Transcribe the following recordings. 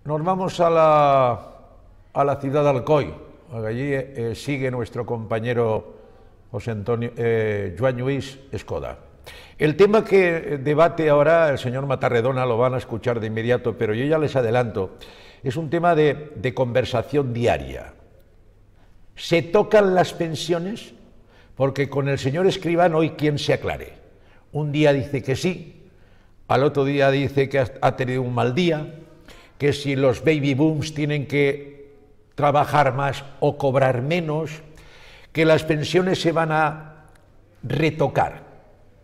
Nos vamos a la ciudad de Alcoy. Allí sigue nuestro compañero Joan Lluís Escoda. El tema que debate ahora el señor Matarredona lo van a escuchar de inmediato, pero yo ya les adelanto, es un tema de conversación diaria. ¿Se tocan las pensiones? Porque con el señor Escrivá hoy quién se aclare. Un día dice que sí, al otro día dice que ha tenido un mal día, que si los baby booms tienen que trabajar más o cobrar menos, que las pensiones se van a retocar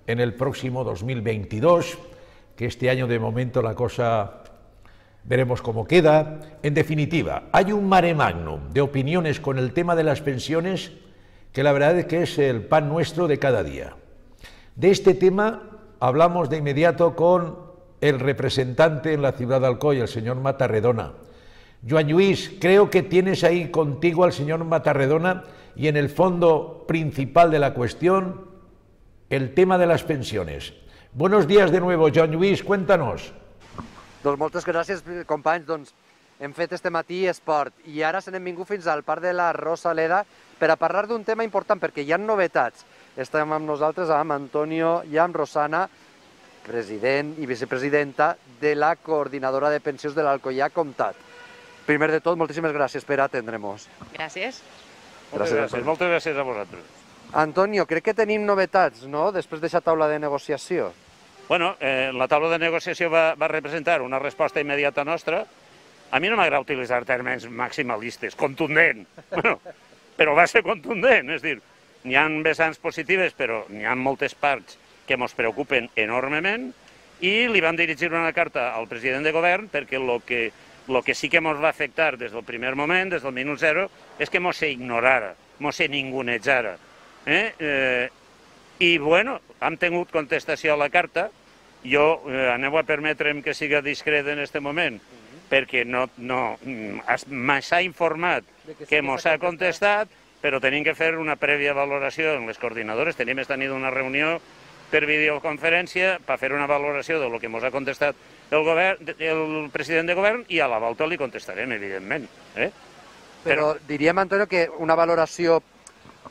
en el próximo 2022, que este año de momento la cosa veremos cómo queda. En definitiva, hay un mare magnum de opiniones con el tema de las pensiones que la verdad es que es el pan nuestro de cada día. De este tema hablamos de inmediato con el representante en la ciudad de Alcoy, el señor Matarredona. Joan Lluís, creo que tienes ahí contigo al señor Matarredona y en el fondo principal de la cuestión, el tema de las pensiones. Buenos días de nuevo, Joan Lluís, cuéntanos. Doncs moltes gràcies, companys. Doncs hem fet este matí esport i ara se n'hem vingut fins al Parc de la Rosaleda per a parlar d'un tema important perquè hi ha novetats. Estem amb nosaltres amb Antonio i amb Rosana, president i vicepresidenta de la Coordinadora de Pensions de l'Alcoià Comtat. Primer de tot, moltíssimes gràcies per atendre-nos. Gràcies. Moltes gràcies a vosaltres. Antonio, crec que tenim novetats, no?, després d'aquesta taula de negociació. Bueno, la taula de negociació va representar una resposta immediata nostra. A mi no m'agrada utilitzar termes maximalistes, contundent, però va ser contundent, és a dir, n'hi ha vessants positives, però n'hi ha moltes parts que ens preocupen enormement i li vam dirigir una carta al president de govern perquè el que sí que ens va afectar des del primer moment, des del minut zero, és que ens se ignorara, ens se ningunejara. I, bueno, hem tingut contestació a la carta. Jo aneu a permetre'm que siga discret en aquest moment, perquè s'ha informat que ens ha contestat, però tenim que fer una prèvia valoració en les coordinadores. Tenim esta nit una reunió per videoconferència per fer una valoració del que ens ha contestat el president de govern i a la volta li contestarem, evidentment. Però diríem, Antonio, que una valoració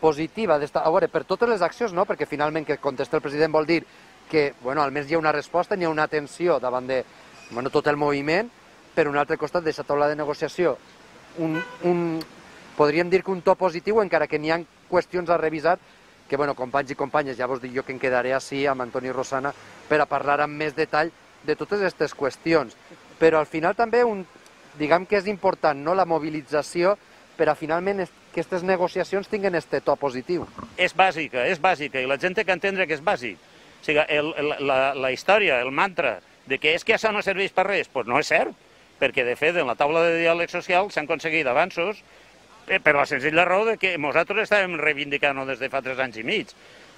positiva, a veure, per totes les accions, no? Perquè finalment que contesta el president vol dir que, bueno, almenys hi ha una resposta, hi ha una atenció davant de tot el moviment. Per un altre costat, d'aquesta taula de negociació, podríem dir que un to positiu, encara que n'hi ha qüestions a revisar, que, bueno, companys i companyes, ja vos dic jo que em quedaré així amb Antoni i Rosana per a parlar amb més detall de totes aquestes qüestions. Però al final també, diguem que és important, no?, la mobilització per a finalment que aquestes negociacions tinguin aquest to positiu. És bàsica, i la gent té que entendre que és bàsic. O sigui, la història, el mantra de que és que això no serveix per res, doncs no és cert, perquè de fet en la taula de diàleg social s'han aconseguit avanços per la senzilla raó que nosaltres estàvem reivindicant des de fa 3 anys i mig.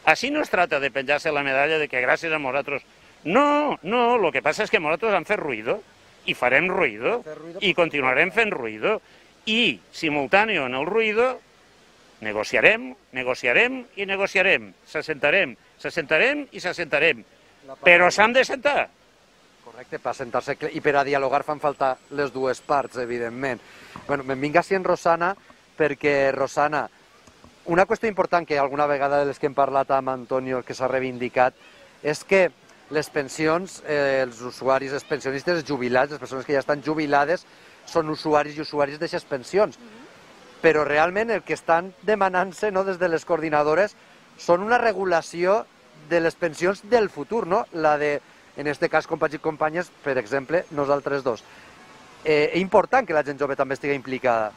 Així no es tracta de penjar-se la medalla de que gràcies a nosaltres... No, el que passa és que nosaltres hem fet ruïdo, i farem ruïdo, i continuarem fent ruïdo, i simultàneo en el ruïdo negociarem i negociarem, s'assentarem i s'assentarem, però s'han de sentar. Correcte, per sentar-se i per a dialogar fan falta les dues parts, evidentment. Bueno, me'n vinc així en Rosana, perquè, Rosana, una qüestió important que alguna vegada de les que hem parlat amb Antonio, que s'ha reivindicat, és que les pensions, els usuaris, els pensionistes, els jubilats, les persones que ja estan jubilades, són usuaris i usuaris d'aquestes pensions. Però realment el que estan demanant-se des de les coordinadores són una regulació de les pensions del futur, no? La de, en aquest cas, companys i companyes, per exemple, nosaltres dos. És important que la gent jove també estigui implicada.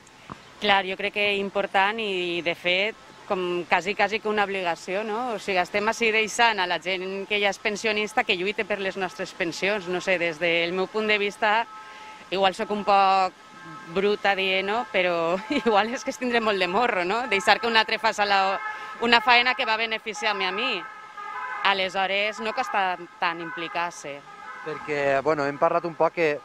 Clar, jo crec que és important i, de fet, com quasi que una obligació, no? O sigui, estem així deixant a la gent que ja és pensionista que lluite per les nostres pensions. No sé, des del meu punt de vista, igual soc un poc bruta dient-ho, però igual és que es tindré molt de morro, no? Deixar que un altre faci una feina que va beneficiar-me a mi. Aleshores, no costa tant implicar-se. Perquè, bueno, hem parlat un poc que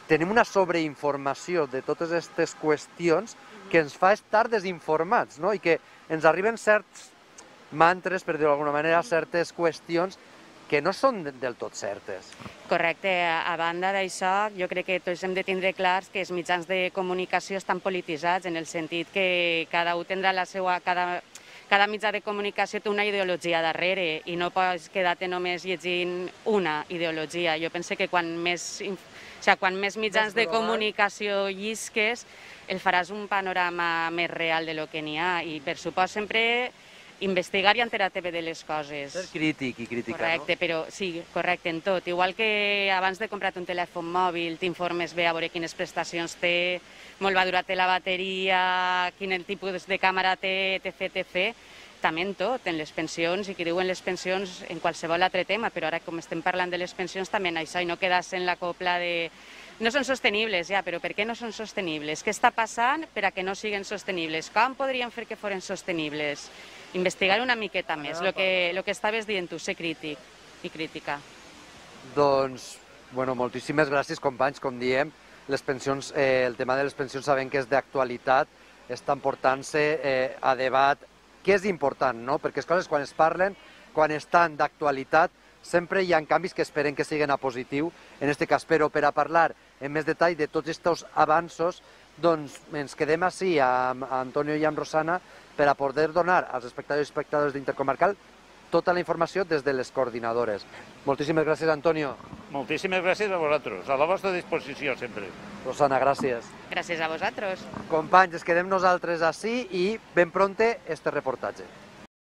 tenim una sobreinformació de totes aquestes qüestions que ens fa estar desinformats, no? I que ens arriben certs mantres, per dir-ho d'alguna manera, certes qüestions que no són del tot certes. Correcte. A banda d'això, jo crec que tots hem de tindre clars que els mitjans de comunicació estan polititzats, en el sentit que cada un tindrà la seva... Cada mitjà de comunicació té una ideologia darrere i no pots quedar-te només llegint una ideologia. Jo penso que quan més mitjans de comunicació llisques, el faràs un panorama més real de lo que n'hi ha. I per supost sempre investigar i enterar-te bé de les coses. Ser crític i criticar, correcte, no? Però sí, correcte en tot. Igual que abans de comprar-te un telèfon mòbil t'informes bé a veure quines prestacions té, molt va durar-te la bateria, quin tipus de càmera té, etc. També en tot, en les pensions, i qui diuen les pensions en qualsevol altre tema, però ara com estem parlant de les pensions també en això, i no quedar-se en la copla de... No són sostenibles, ja, però per què no són sostenibles? Què està passant per a que no siguin sostenibles? Com podríem fer que foren sostenibles? Investigar una miqueta més, el que estaves dient tu, ser crític i crítica. Doncs, bueno, moltíssimes gràcies, companys, com diem. Les pensions, el tema de les pensions sabem que és d'actualitat, estan portant-se a debat, que és important, no? Perquè les coses quan es parlen, quan estan d'actualitat, sempre hi ha canvis que esperem que siguin a positiu, en aquest cas, però per a parlar en més detall de tots aquests avanços, doncs ens quedem així amb Antonio i amb Rosana per a poder donar als espectadors i espectadores d'Intercomarcal tota la informació des de les coordinadores. Moltíssimes gràcies, Antonio. Moltíssimes gràcies a vosaltres, a la vostra disposició sempre. Rosana, gràcies. Gràcies a vosaltres. Companys, es quedem nosaltres així i ben pronte este reportatge.